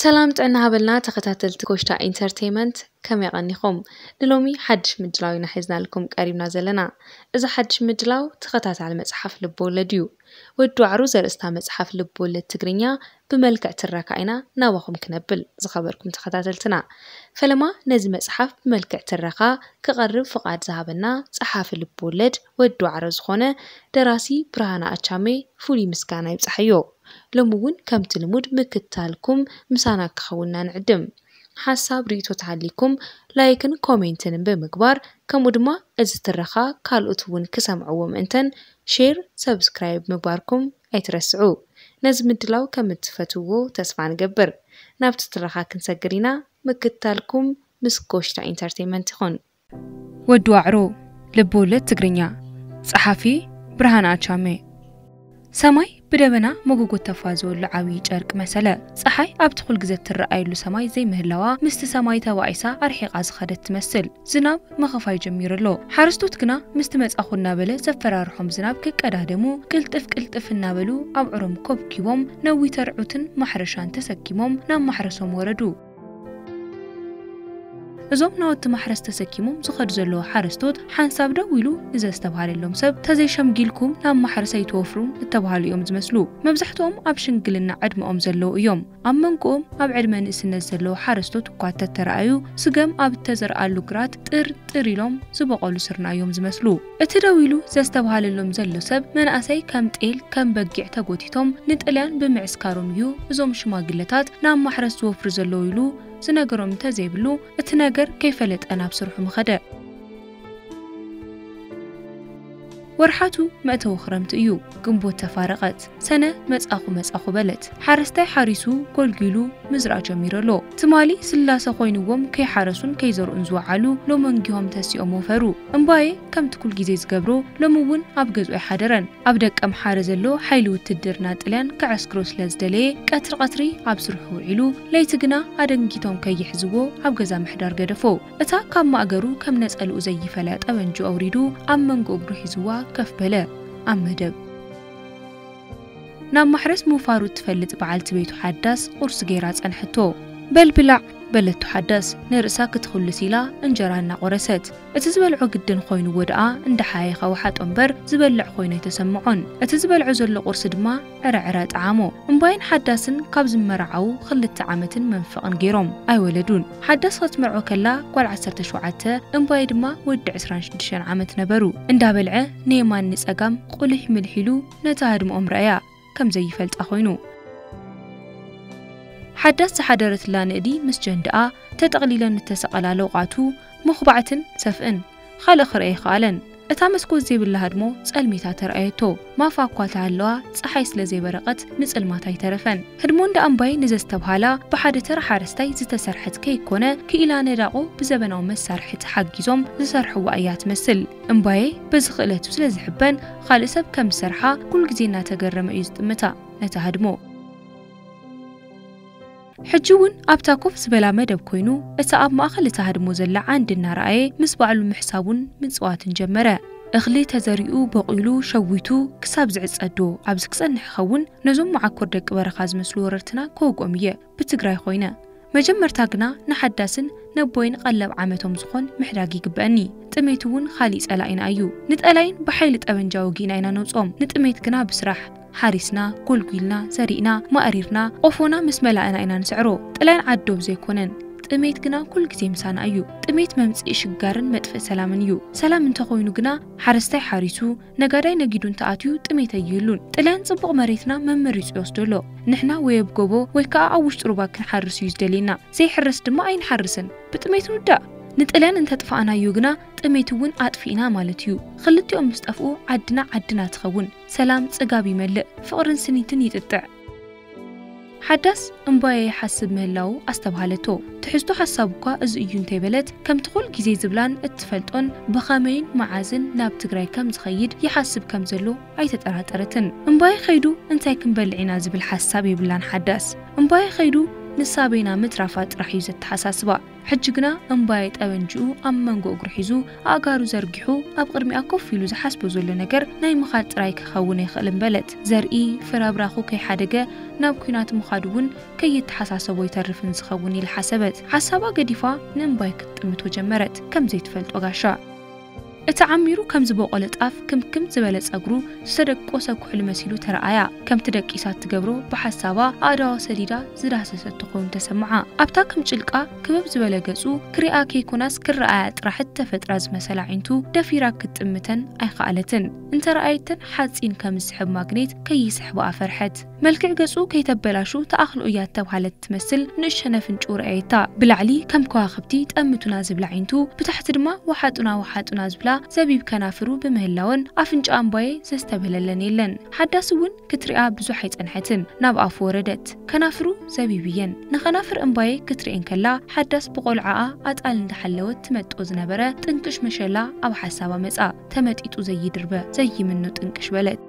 ሰላም ጥዕና ሃበልና ተኸታተልቲ ኮሽታ ኢንተርቴይመንት፣ ከመይ ቀኒኹም? ንሎሚ ሓድሽ ምድላው ኢና ሒዝናልኩም ቀሪብና ዘለና። እዚ ሓድሽ ምድላው ተኸታታሊ መጽሓፍ ልብወለድ እዩ። ወዲ ዋዕሮ ዘርእስታ መጽሓፍ ልብወለድ ትግርኛ ብመልክዕ ትረካ ኢና ናባኹም ክነብል፣ ዝኸበርኩም ተኸታተልትና። ፈለማ ነዚ መጽሓፍ ብመልክዕ ትረኻ ክቐርብ ፍቓድ ዝሃበና ጸሓፊ ልብወለድ ወዲ ዋዕሮ ዝኾነ ደራሲ ብርሃነ ኣቻሜ ፍሉይ ምስጋና ይብጻሓዮ። ሎሚ እውን ከምቲ ልሙድ ምክትታልኩም ምሳና ክኸውንና ንዕድም። ሓሳብ ርእይቶ ተሃሊኩም ላይክን ኮሜንትን ብምግባር፣ ከምኡ ድማ እዚ ትረኻ ካልኦት እውን ክሰምዕዎ ምእንተን ሼር፣ ሰብስክራይብ ምግባርኩም ኣይትረስዑ። ነዚ ምድላው ከም እትፈትውዎ ተስፋ ንገብር። ናብቲ ትረኻ ክንሰግር ኢና። ምክትታልኩም ምስ ኮሽታ ኢንተርቴይመንት ይኹን። ወዲ ዋዕሮ፣ ልብ ወለድ ትግርኛ። ጸሓፊ ብርሃን ኣቻሜ። ሰማይ ብደበና መጎጎ ተፋ ዝወሉ ዓብዪ ጨርቂ መሰለ። ጸሓይ ኣብቲ ኩል ግዜ እትረኣየሉ ሰማይ ዘይምህላዋ ምስቲ ሰማይ ተባኢሳ ኣርሒቓ ዝኸደት ትመስል። ዝናብ ምኽፋይ ጀሚሩ ኣሎ። ሓረስቶት ግና ምስቲ መጻኹ እናበለ ዘፈራርሖም ዝናብ ክቀዳደሙ ቅልጥፍ ቅልጥፍ እናበሉ ኣብዑሮም ኮብኪቦም ነዊት ኣርዑትን ማሕረሻን ተሰኪሞም ናብ ማሕረሶም ወረዱ። እዞም ናውቲ ማሕረስ ተሰኪሞም ዝኸዱ ዘለዉ ሓረስቶት ሓንሳብ ደው ኢሉ ንዘስተብሃለሎም ሰብ፣ "ተዘይሸምጊልኩም ናብ ማሕረስ ኣይትወፍሩን" እተባሃሉ እዮም ዝመስሉ። መብዛሕትኦም ኣብ ሽምግልና ዕድመኦም ዘለዉ እዮም። ኣብ መንጎኦም ኣብ ዕድመ ንእስነት ዘለዉ ሓረስቶት እኳ እንተተረኣዩ፣ ስገም ኣብ እተዘርኣሉ ግራት ጥር ጥር ኢሎም ዝበቖሉ ስርና እዮም ዝመስሉ። እቲ ደው ኢሉ ዘስተብሃለሎም ዘሎ ሰብ፣ መናእሰይ ከም ጤል ከም በጊዕ ተጎቲቶም ንጥልያን ብምዕስካሮም እዩ እዞም ሽማግለታት ናብ ማሕረስ ዝወፍሩ ዘለዉ ኢሉ ዝነገሮም እንተዘይብሉ፣ እቲ ነገር ከይፈለጠ ናብ ስርሑ ምኸደ። ወርሓቱ መእተዊ ክረምቲ እዩ። ግንቦት ተፋረቐት። ሰነ መጻኹ መጻኹ በለት። ሓረስታይ ሓሪሱ ጎልጒሉ ምዝራእ ጀሚሩ ኣሎ። ትማሊ ስላሰ ኮይንዎም ከይሓረሱን ከይዘርኡን ዝወዓሉ ሎመንጊሆም ተሲኦም ወፈሩ። እምባየ ከምቲ ኩል ግዜ ዝገብሮ ሎሚ እውን ኣብ ገዝኡ ኣይሓደረን። ኣብ ደቀምሓረ ዘሎ ሓይሊ ውትድርና ጥልያን ክዕስክሮ ስለ ዝደለየ ቀትሪ ቀትሪ ኣብ ስርሑ ውዒሉ፣ ለይቲ ግና ኣደንጊቶም ከይሕዝዎ ኣብ ገዛ ምሕዳር ገደፎ። እታ ካብ ማእገሩ ከም ነጸልኡ ዘይፈለ ጠበንጁ ኣውሪዱ ኣብ መንጎ እግሩ ሒዝዋ ከፍ በለ። ኣብ መደብ ናብ ማሕረስ ምውፋሩ እትፈልጥ በዓልቲ ቤቱ ሓዳስ ቁርሲ ገይራ ጸንሐቶ። "በል ብላዕ" በለቶ ሓዳስ ንርእሳ ክትኹልስ ኢላ እንጀራ እናቖረሰት። እቲ ዝበልዖ ግድን ኮይንዎ ደኣ እንዳሓየኸ ወሓጦ እምበር ዝበልዕ ኮይኑ ኣይተሰምዖን። እቲ ዝበልዖ ዘሎ ቁርሲ ድማ ዕረ ዕረ ጠዓሞ። እምባይን ሓዳስን ካብ ዝመራዓዉ ክልተ ዓመትን መንፈቕን ገይሮም ኣይወለዱን። ሓዳስ ክትምርዖ ከላ ጓል ዓሰርተ ሸውዓተ፣ እምባየ ድማ ወዲ ዕስራን ሽዱሽተን ዓመት ነበሩ። እንዳበልዐ ንየማን ንጸጋም ቁሊሕ ምልሕ ኢሉ ነታ ህድሞኦም ረኣያ፣ ከም ዘይፈልጣ ኮይኑ። ሓዳስ ዝሓደረትላ ንእዲ ምስ ጀንድኣ ተጠቕሊለን እተሰቐላ ለውቓቱ፣ መኹባዕትን ሰፍእን፣ ካልእ ክረኣ ኣይከኣለን። እታ መስኮት ዘይብላ ህድሞ ጸልሚታ ተራእየቶ። ማፋ እኳ ተሃለዋ፣ ጸሓይ ስለ ዘይበረቐት ንጽልማት ኣይተረፈን። ህድሞ እንዳ እምባይ ንዘስተብሃላ፣ ብሓደ ተራ ሓረስታይ ዝተሰርሐት ከይኮነ፣ ክኢላ ነዳቑ ብዘበናዊ መሳርሒ ተሓጊዞም ዝሰርሕዋ እያ ትመስል። እምባየ በዚ ክእለቱ ስለ ዝሕበን፣ ካልእ ሰብ ከም ዝሰርሓ ኩሉ ግዜ እናተገረመ እዩ ዝጥምታ ነታ ህድሞ። ሕጂ እውን ኣብታ ኮፍ ዝበላ መደብ ኮይኑ፣ እታ ኣብ ማእከል እታ ህድሞ ዘላ ዓንዲ እናረኣየ፣ ምስ ባዕሉ ምሕሳቡን ምጽዋትን ጀመረ። እኽሊ ተዘሪኡ፣ በቑሉ፣ ሸዊቱ፣ ክሳብ ዝዕጸዶ ኣብዚ ክጸንሕ ይኸውን? ነዞም መዓኮር ደቂ በረኻ ዝመስሉ ወረርትና ክወግኦም እየ፣ ብትግራይ ኮይነ። መጀመርታ ግና ንሓዳስን ነቦይን ቀለብ ዓመቶም ዝኾን ምሕዳግ ይግበአኒ። ጥሜት እውን ካሊእ ጸላኢና እዩ። ንጠላይን ብሓይሊ ጠበንጃ ወጊእና ኢና ነውጽኦም። ንጥሜት ግና ብስራሕ፣ ሓሪስና፣ ጎልጒልና፣ ዘሪእና፣ ማእሪርና፣ ቆፎና ምስ መላእና ኢና ንስዕሮ። ጥላይን ዓዶብ ዘይኮነን። ጥሜት ግና ኩል ግዜ ምሳና እዩ። ጥሜት መምጽኢ ሽጋርን መጥፍኢ ሰላምን እዩ። ሰላም እንተኾይኑ ግና ሓረስታይ ሓሪሱ፣ ነጋዳይ ነጊዱ እንተኣትዩ ጥሜት ኣይህሉን። ጥልያን ጽቡቕ መሬትና መመሪጹ ይወስዶ ኣሎ። ንሕና ወይ ኣብ ጎቦ ወይ ከኣ ኣብ ውሽጢ ሩባ ክንሓርስ እዩ ዝደልየና። ዘይሕረስ ድማ ኣይንሓርስን። ብጥሜት ንውዳእ። ንጥልያን እንተጥፋእናዮ ግና ጥሜት እውን ኣጥፊእና ማለት እዩ። ክልቲኦም ምስ ጠፍኡ ዓድና ዓድና ትኸውን። ሰላም ጽጋብ ይመልእ፣ ፍቕርን ስኒትን ይጥጥዕ። ሓዳስ እምባየ ይሓስብ ምህላዉ ኣስተብሃለቶ። ትሕዝቶ ሓሳብ እኳ እዚ እዩ እንተይበለት፣ ከምቲ ኩል ግዜ ዝብላን እትፈልጦን ብኸመይን መዓዝን ናብ ትግራይ ከም ዝኸይድ ይሓስብ ከም ዘሎ ኣይተጠራጠረትን። እምባየ ኸይዱ እንታይ ክንበልዕ ኢና ዝብል ሓሳብ የብላን ሓዳስ። እምባየ ኸይዱ ንሳ በይና ምትራፋ ጥራሕ እዩ ዘተሓሳስባ። ሕጂ ግና እምባየ ጠበንጅኡ ኣብ መንጎ እግሩ ሒዙ ኣእጋሩ ዘርጊሑ ኣብ ቅድሚኣ ኮፍ ኢሉ ዝሓስቦ ዘሎ ነገር ናይ ምኻድ ጥራይ ክኸውን ኣይኽእልን በለት። ዘርኢ ፍረብራኹ ከይሓደገ ናብ ኲናት ምኻዱ እውን ከይተሓሳሰቦ ይተርፍን ዝኸውን ኢላ ሓሰበት። ሓሳባ ገዲፋ ንእምባየ ክትጥምቶ ጀመረት፣ ከም ዘይትፈልጦ ጋሻ። እቲ ዓሚሩ ከም ዝበቆለ ጣፍ ክምክም ዝበለ ጸጉሩ ዝተደቆሰ ኩሕሊ መሲሉ ተረኣያ። ከምቲ ደቂሳ እትገብሮ ብሓሳባ ኣእዳዋ ሰዲዳ ዝዳህሰሰቶ ኮይኑ ተሰምዓ። ኣብታ ከም ጭልቃ ክበብ ዝበለ ገጹ ክሪኣ ከይኮናስ ክረኣያ ጥራሕ እተፈጥራ ዝመሰላ ኣዒንቱ ደፊራ ክትጥምተን ኣይኸኣለትን። እንተረኣየተን ሓጺን ከም ዝስሕብ ማግኔት ከይስሕባኣ ፈርሐት። መልክዕ ገጹ ከይተበላሹ ተኣኽሎ እያ እተብሃለት ትመስል ንእሸነ ኣፍንጭኡ ረኣየታ። ብላዕሊ ከም ከዋኽብቲ ጠምቱና ዝብላ ኣዒንቱ፣ ብታሕቲ ድማ ወሓጡና ወሓጡና ዝብላ ዘቢብ ከናፍሩ ብምህላወን ኣፍንጫ እምባየ ዘስተብህለለን የለን። ሓዳስ እውን ክትሪኣ ብዙሕ ኣይጸንሐትን፣ ናብ ኣፉ ወረደት። ከናፍሩ ዘቢብ እየን። ንኸናፍር እምባየ ክትሪኤን ከላ ሓዳስ ብቆልዓኣ ኣጣል እንዳሓለወት ትመጦ ዝነበረ ጥንቅሽ መሸላ ኣብ ሓሳባ መጻ። ተመጢጡ ዘይድርበ ዘይምኖ ጥንቅሽ በለት።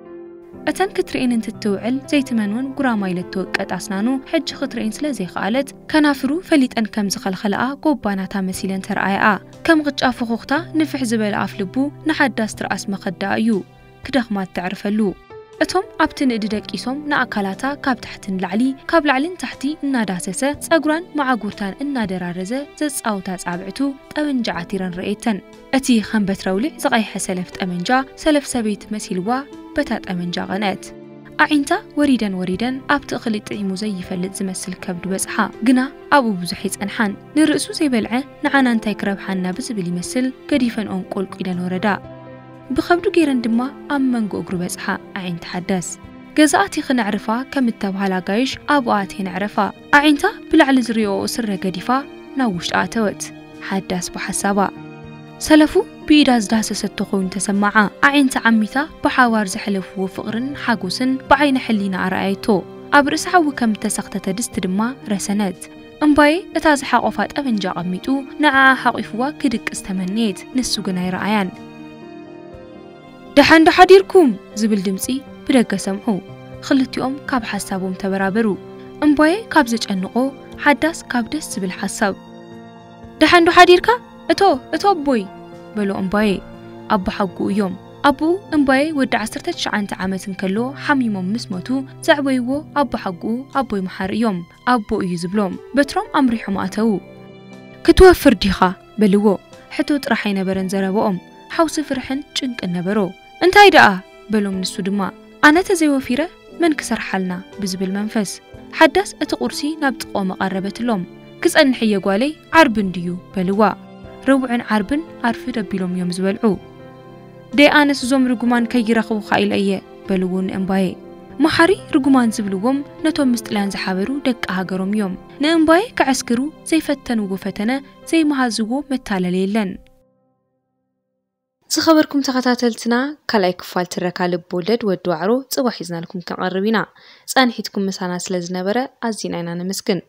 እተን ክትሪኤን እንትትውዕል ዘይትመንወን ጉራማይለ እተወቀጣ ኣስናኑ ሕጂ ክትሪኤን ስለ ዘይኸኣለት፣ ከናፍሩ ፈሊጠን ከም ዝኸልኸለኣ ጎባናታ መሲለን ተረኣያኣ። ከም ቅጫ ፉኹኽታ ንፍሕ ዝበለ ኣፍ ልቡ ንሓዳስ ትርኣስ መኸዳኣ እዩ። ክደኽማ እተዕርፈሉ። እቶም ኣብቲ ንእዲ ደቂሶም ንኣካላታ ካብ ታሕቲ ንላዕሊ፣ ካብ ላዕሊ ንታሕቲ እናዳሰሰ፣ ጸጉራን መዓጉርታን እናደራረዘ ዘጻውታ ጻብዕቱ ጠበንጃ ዓቲረን ረእየተን። እቲ ከም በትረ ኣውሊዕ ዝቐይሐ ሰለፍ ጠመንጃ፣ ሰለፍ ሰበይቲ መሲልዋ በታ ጠመንጃ ቀንአት። ኣዒንታ ወሪደን ወሪደን ኣብቲ እኽሊ ጥዒሙ ዘይፈልጥ ዝመስል ከብዱ በጽሓ። ግና ኣብኡ ብዙሕ ኣይጸንሓን። ንርእሱ ዘይበልዐ ንዓና እንታይ ክረብሓና ብዝብል ይመስል ገዲፈንኦም ቆልቁ ኢለን ወረዳ። ብኸብዱ ገይረን ድማ ኣብ መንጎ እግሩ በጽሓ። ኣዒንቲ ሓዳስ ገዛ ኣቲኺ ነዕርፋ ከም እተባህላ ኣጋይሽ ኣብኡ ኣትየን ኣዕረፋ። ኣዒንታ ብላዕሊ ዝሪኦኦ ስረ ገዲፋ ናብ ውሽጢ ኣተወት። ሓዳስ ብሓሳባ ሰለፉ ብኢዳ ዝዳህሰሰቶ ኮይኑ ተሰማዓ። ኣዒንቲ ዓሚታ ብሓባር ዘሕለፍዎ ፍቕርን ሓጎስን ብዓይነ ሕሊና ኣረኣየቶ። ኣብ ርእሲ ሓዊ ከም እተሰኽተተ ድስቲ ድማ ረሰነት። እምባየ እታ ዝሓቖፋ ጠበንጃ ኣቐሚጡ ንዓኣ ሓቒፍዋ ክድቅስ ተመነየት። ንሱ ግን ኣይረኣያን። ደሓን ዶ ሓዲርኩም ዝብል ድምጺ ብደገ ሰምዑ። ክልቲኦም ካብ ሓሳቦም ተበራበሩ። እምባየ ካብ ዘጨንቖ፣ ሓዳስ ካብ ደስ ዝብል ሓሳብ። ደሓን ዶ ሓዲርካ እቶ፣ እቶ ኣቦይ በሎ እምባየ። ኣቦ ሓጉኡ እዮም። ኣቦኡ እምባየ ወዲ ዓሰርተ ትሽዓተ ዓመት እንከሎ ሓሚሞም ምስ ሞቱ ዘዕበይዎ ኣቦ ሓጉኡ ኣቦይ መሓሪ እዮም። ኣቦ እዩ ዝብሎም። በትሮም ኣምሪሖም ኣተዉ። ክትወፍር ዲኻ በልዎ። ሕቶ ጥራሕ ኣይነበረን ዘረባኦም። ሓውሲ ፍርሕን ጭንቅን ነበሮ። እንታይ ደኣ በሎም ንሱ ድማ። ኣነ ተዘይወፊረ መን ክሰርሓልና ብዝብል መንፈስ። ሓዳስ እቲ ቁርሲ ናብ ጥቕኦም ኣቐረበትሎም። ክጸንሕ እየ ጓለይ፣ ዓርቢ እንድዩ በልዋ። ረቡዕን ዓርብን ኣርፍድ ኣቢሎም እዮም ዝበልዑ። ደይ ኣነስ እዞም ርጉማን ከይረኽቡኻ ኢለ እየ በልዎ ንእምባየ። መሓሪ ርጉማን ዝብልዎም ነቶም ምስ ጥልያን ዝሓበሩ ደቂ ሃገሮም እዮም። ንእምባየ ከዐስክሩ ዘይፈተንዎ ፈተነ ዘይመሃዝዎ መታለሊ የለን። ዝኸበርኩም ተኸታተልትና፣ ካልኣይ ክፋል ትረካ ልብ ወለድ ወዲ ዋዕሮ ጽባሕ ሒዝናልኩም ክንቐርብ ኢና። ጸንሒትኩም ምሳና ስለ ዝነበረ ኣዚና ኢና ነመስግን።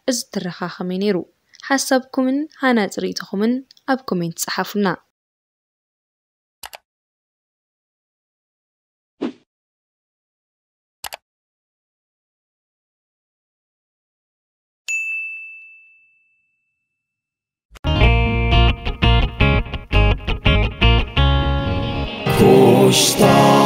እዚ ትረኻ ከመይ ነይሩ? ሓሳብኩምን ሃናጺ ርእይቶኹምን ኣብ ኮሜንት ጸሓፉልና። Costa.